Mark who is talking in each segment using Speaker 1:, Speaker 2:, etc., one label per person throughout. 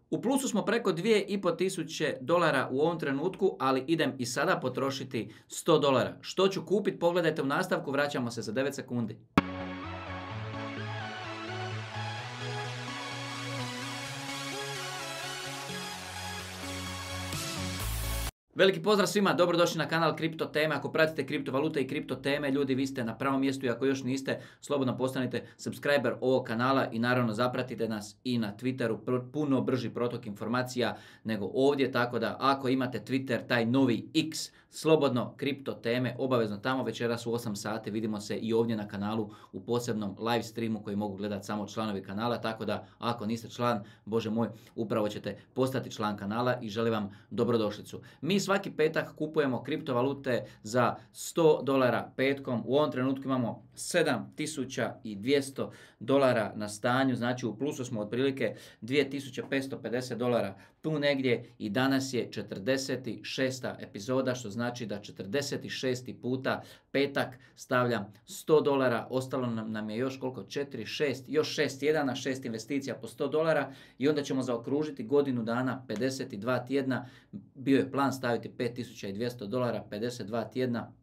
Speaker 1: U plusu smo preko 2500 dolara u ovom trenutku, ali idem i sada potrošiti 100 dolara. Što ću kupiti? Pogledajte u nastavku, vraćamo se za 9 sekundi. Veliki pozdrav svima, dobrodošli na kanal Kripto teme. Ako pratite kriptovalute i kripto teme, ljudi, vi ste na pravom mjestu i ako još niste, slobodno postanite subscriber ovog kanala i naravno zapratite nas i na Twitteru, puno brži protok informacija nego ovdje, tako da ako imate Twitter, taj novi X, slobodno kripto teme, obavezno tamo večeras u 8 sati, vidimo se i ovdje na kanalu u posebnom live streamu koji mogu gledati samo članovi kanala, tako da ako niste član, bože moj, upravo ćete postati član kanala i želim vam dobrodošlicu. Mi svaki petak kupujemo kriptovalute za 100 dolara petkom. U ovom trenutku imamo 7200 dolara na stanju, znači u plusu smo otprilike 2550 dolara tu negdje i danas je 46. epizoda, što znači da 46. puta petak stavljam 100 dolara, ostalo nam je još koliko? 4, 6, još 6 tjedana, 6 investicija po 100 dolara i onda ćemo zaokružiti godinu dana, 52 tjedna, bio je plan staviti 5200 dolara, 52 tjedna,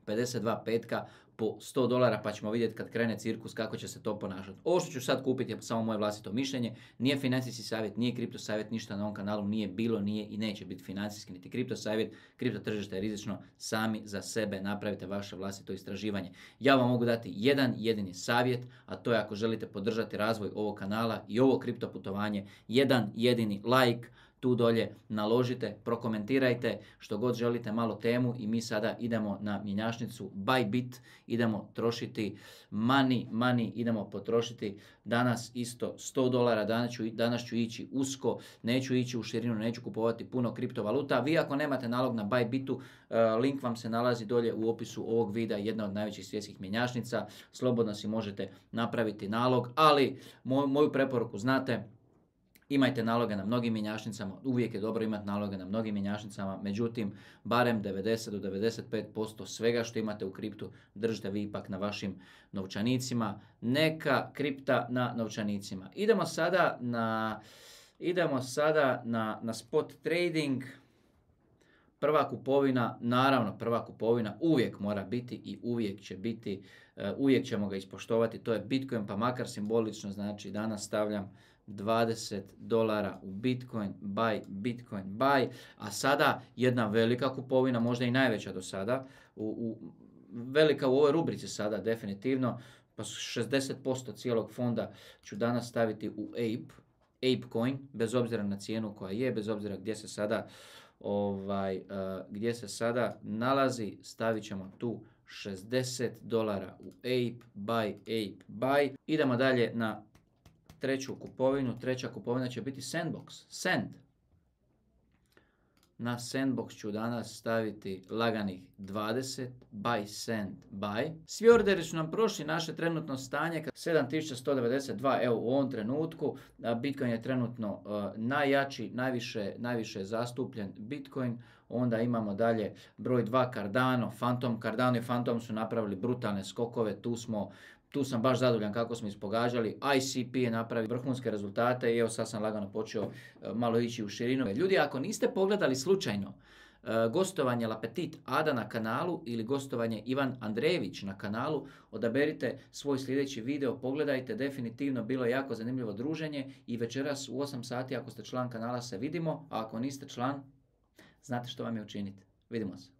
Speaker 1: 52 petka po 100 dolara, pa ćemo vidjeti kad krene cirkus kako će se to ponašati. Ovo što ću sad kupiti je samo moje vlastito mišljenje, nije financijski savjet, nije kripto savjet, ništa na ovom kanalu nije bilo, nije i neće biti financijski niti kripto savjet. Kripto tržište je rizično, sami za sebe napravite vaše vlastito istraživanje. Ja vam mogu dati jedan jedini savjet, a to je ako želite podržati razvoj ovog kanala i ovo kripto putovanje, jedan jedini like, tu dolje naložite, prokomentirajte što god želite, malo temu i mi sada idemo na mjenjačnicu Bybit, idemo trošiti money, idemo potrošiti danas isto 100 dolara, danas ću ići usko, neću ići u širinu, neću kupovati puno kriptovaluta. Vi ako nemate nalog na Bybitu, link vam se nalazi dolje u opisu ovog videa, jedna od najvećih svjetskih mjenjačnica, slobodno si možete napraviti nalog, ali moju preporuku znate, imajte naloge na mnogim mjenjačnicama, uvijek je dobro imati naloge na mnogim mjenjačnicama, međutim, barem 90 do 95% svega što imate u kriptu držite vi ipak na vašim novčanicima, neka kripta na novčanicima. Idemo sada na spot trading. Prva kupovina, naravno prva kupovina uvijek mora biti i uvijek će biti, uvijek ćemo ga ispoštovati, to je Bitcoin, pa makar simbolično, znači danas stavljam 20 dolara u Bitcoin, buy, a sada jedna velika kupovina, možda i najveća do sada, velika u ovoj rubrici sada definitivno, pa 60% cijelog fonda ću danas staviti u Ape coin, bez obzira na cijenu koja je, bez obzira gdje se sada nalazi, stavit ćemo tu 60 dolara u Ape, buy. Idemo dalje na treću kupovinu. Treća kupovina će biti Sand. Na Sandbox ću danas staviti laganih 20, buy. Svi orderi su nam prošli, naše trenutno stanje 7192, evo u ovom trenutku. Bitcoin je trenutno najjači, najviše je zastupljen Bitcoin. Onda imamo dalje broj 2 Cardano, Cardano i Phantom su napravili brutalne skokove, tu sam baš zadovoljan kako smo ispogađali. ICP je napravio vrhunske rezultate i evo sad sam lagano počeo malo ići u širinu. Ljudi, ako niste pogledali slučajno gostovanje L'Appetit Ada na kanalu ili gostovanje Ivan Andrejević na kanalu, odaberite svoj sljedeći video, pogledajte, definitivno bilo je jako zanimljivo druženje i večeras u 8 sati ako ste član kanala se vidimo, a ako niste član, znate što vam je učiniti. Vidimo se.